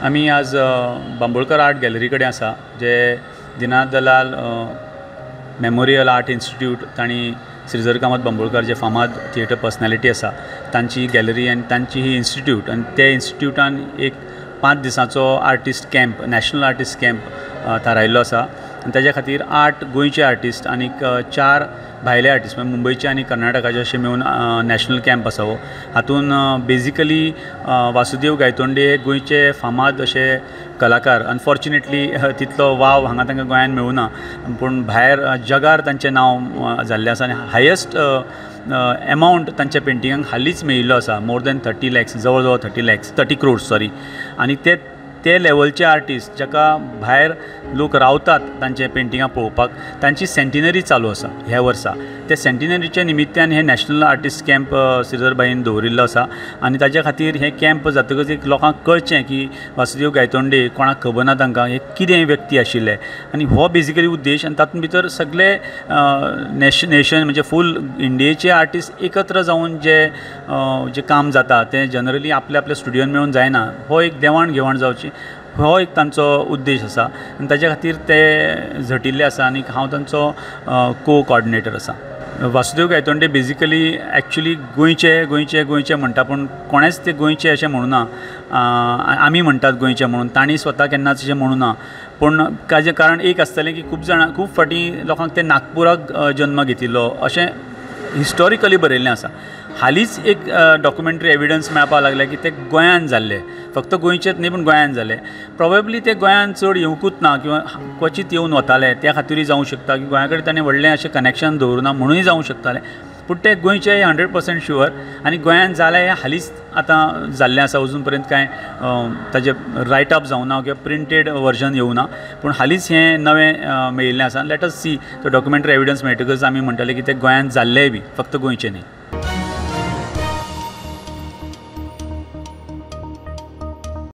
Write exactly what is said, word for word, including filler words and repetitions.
आमी आज Bambolkar art gallery कडेन आसा जे दिनानाथ दलाल मेमोरियल आर्ट इन्स्टिट्यूट तांणी श्रीधर कामत बांबोळकर जे फामाद थिएटर पर्सनेलिटी आसा तांची गॅलरी आनी तांची ही इन्स्टिट्यूट आनी ते इन्स्टिट्यूटान एक पांच दिसांचो artist camp national artist camp थारायल्लो आसा आनी ताज्या खातीर आठ गोंयचे आर्टिस्ट आनीक चार भायले आर्टिस्ट म्हळ्यार मुंबयचे आनी कर्नाटकाचे अशे मेळून नॅशनल कँप आसा हो हातून बेजिकली वासुदेव गायतोंडे हे गोंयचे फामाद अशे कलाकार अनफॉर्चुनेटली तितलो वाव हांगा तांकां गोंयांत मेळूना पूण भायर जगार तांचें नांव जाल्लें आसा आनी हायस्ट एमावंट तांच्या पेंटिंगांक हालींच मेळिल्लो आसा मोर दॅन थर्टी लॅक्स जवळ जवळ thirty lakhs thirty crores sorry आनी ते ते लेवलचे आर्टिस्ट जाका भायर लोक रावतात तांचे पेंटिंगां पळोवपाक तांची सेंटिनरी चालू आसा ह्या वर्सा त्या सेंटिनरीच्या निमित्यान हे नॅशनल आर्टिस्ट कँप श्रीधर भाईन दवरिल्लो आसा आनी ताज्या खातीर हे कँप जातकच एक लोकांक कळचें की वासुदेव गायतोंडे कोणाक खबर ना तांकां हे कितें व्यक्ती आशिल्ले आनी हो बेजिकली उद्देश आनी तातूंत भितर सगळे नॅश नेशन म्हणजे फूल इंडियेचे आर्टिस्ट एकत्र जावन जे जें काम जाता तें जनरली आपल्या आपल्या स्टुडियोन मेळून जायना हो एक देवाण घेवाण जावची हो एक तांचो उद्देश आसा आनी ताज्या खातीर ते झटिल्ले आसा आनी हांव तांचो को कॉर्डिनेटर आसा वासुदेव गायतोंडे बेजिकली एक्चुली गोंयचे गोंयचे गोंयचे म्हणटा पूण कोणेंच ते गोंयचे अशें म्हणूना आमी म्हणटात गोंयचे म्हणून तांणी स्वता केन्नाच अशें म्हणूना पूण ताजें कारण एक आसतलें की खूब जाणां खूब फावटी लोकांक ते नागपुराक जन्म घेतिल्लो अशें हिस्टॉरिकली बरयल्लें आसा हालींच एक डॉक्युमेंटरी एविडन्स मेळपाक लागले की ते गोंयान जाल्ले फक्त गोंयचेच न्ही पूण गोंयान जाले प्रोबेबली ते गोंयान चड येवंकूच ना किंवा क्वचीत येवन वताले त्या खातीरूय जावं शकता की गोंया कडेन ताणें व्हडलें अशें कनेक्शन दवरुना म्हणूय जावं शकतालें पूण ते गोंयचे हंड्रेड पर्संट शुअर आनी गोंयान जालें हें हालींच आतां जाल्लें आसा अजून पर्यंत कांय ताजें रायटअप जावना किंवा प्रिंटेड वर्जन येवना पूण हालींच हें नवें मेळिल्लें आसा let us सी तो डॉक्युमेंटरी एविडन्स मेळटकच आमी म्हणटले की ते गोंयान जाल्लेय बी फक्त गोंयचे न्ही.